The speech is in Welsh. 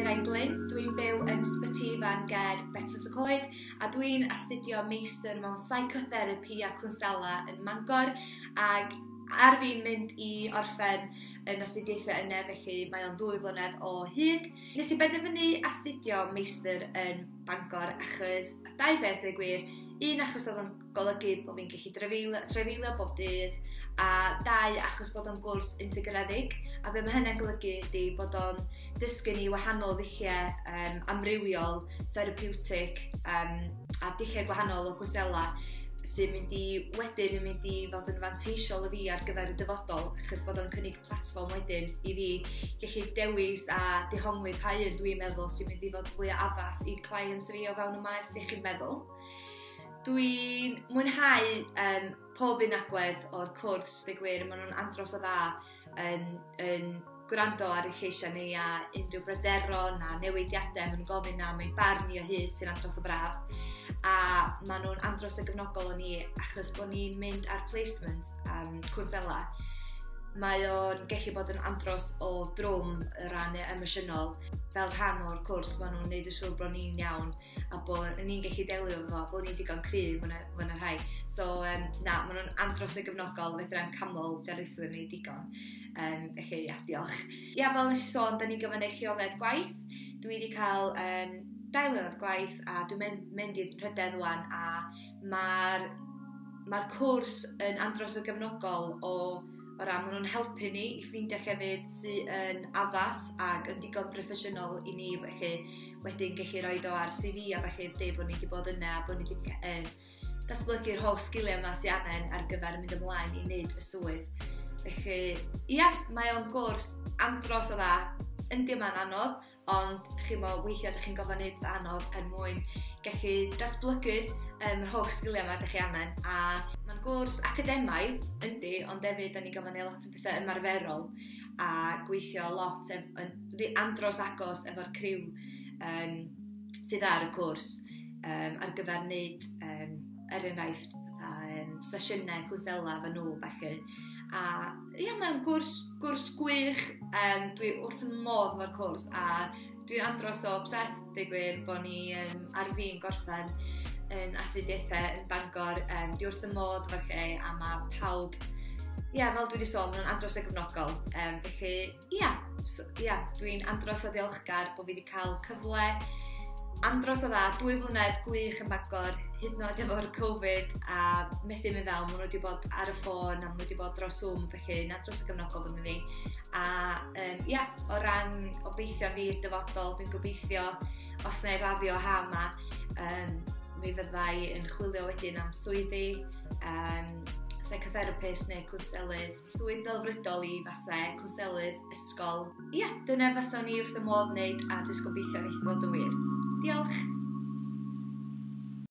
Mirain Glyn, dwi'n byw yn Sbyty Ifan ger Betws y Coed a dwi'n astudio meistr mewn psychotherapy a cwnsela yn Mangor ac ar fi'n mynd i orffen yn astudiaethau yna, felly mae o'n 2 flynedd o hyd. Nes i benderfynu astudio meistr yn Bangor achos dau beth dweud gwir. Un, achos oedd o'n golygu bod fi'n gallu trefeilio bob dydd, a dau, achos bod o'n gwrs integredig, a be mae hynny'n golygu ydy bod o'n dysgu ni wahanol ddulliau amrywiol, therapeutic, a dulliau gwahanol o gwnsela sy'n mynd i wedyn yn mynd i fod yn fanteisiol i fi ar gyfer y dyfodol, achos bod o'n cynnig platfform wedyn i fi gallu dewis a dehongli pa un dwi'n meddwl sy'n mynd i fod fwy addas i clients fi o fewn y maes iechyd meddwl. Dwi'n mwynhau pob un agwedd o'r cwrs, dweud gwir, maen nhw'n andros o dda yn gwrando ar eu lleisiau ni a unrhyw bryderon a newidiadau maen nhw'n gofyn am ein barn ni o hyd sy'n andros o braf. A maen nhw'n andros o gefnogol o ni achos bod ni'n mynd ar placement cwnsela. Mae o'n gallu bod yn andros o drwm o ran emosiynol. Fel rhan o'r cwrs, maen nhw'n neud yn siŵr bod ni'n iawn a bod ni'n gallu delio efo fo, bod ni'n digon cryf mwy na rhai. So, na, maen nhw'n andros o gefnogol, fedrai'm canmol darlithwyr ni digon. Felly, ia, diolch. Ia, fel nes i sôn, da ni'n gyfynnu lleoliad gwaith. Dwi wedi cael 2 mlynedd gwaith a dwi'n mynd i'r rhydedd wan, a mae'r cwrs yn andros o gefnogol o ran maen nhw'n helpu ni i ffeindio llefydd sydd yn addas ac yn digon proffesiynol i ni, felly wedyn gallu rhoi o ar CV a felly dweud bod ni wedi bod yna a bod ni wedi datblygu'r holl sgiliau yma sydd angen ar gyfer mynd ymlaen i wneud y swydd. Felly, ia, mae o'n gwrs andros o dda. Yndi, mae'n anodd, ond chi'n mo, weithiau ydych chi'n gofyn neud pethau anodd er mwyn gallu datblygu yr holl sgiliau yma ydych chi angen. A mae'n gwrs academaidd, yndi, ond hefyd da ni'n gofyn neud lot o bethau ymarferol a gweithio lot yn andros agos efo'r criw sydd ar y cwrs ar gyfer wneud, er enghraifft, sesiynau cwnsela efo nhw, felly. A ia, mae'n gwrs gwych, dwi wrth y modd efo'r cwrs a dwi'n andros o obsessed, dweud gwir, bod ni ar fin gorffen yn astudiaethau yn Bangor. Dwi wrth y modd efo'r lle a mae pawb, ia, fel dwi wedi sôn, maen nhw'n andros o gefnogol. Felly, ia, so, ia, dwi'n andros o ddiolchgar bod fi wedi cael cyfle andros o dda, 2 flynedd gwych yn Bangor, hyd yn oed efo'r Covid a methu mynd fewn, maen nhw wedi bod ar y ffôn a maen nhw wedi bod dros Zoom, felly yn andros o gefnogol yn ni. A ia, o ran obeithio fi i'r dyfodol, dwi'n gobeithio os na i raddio ha yma, mi fyddai yn chwilio wedyn am swyddi, psychotherapist neu cwnselydd, swydd ddelfrydol i fase, cwnselydd, ysgol. Ia, dyna faswn i wrth y modd wneud a jyst gobeithio wneith fod yn wir. Diolch!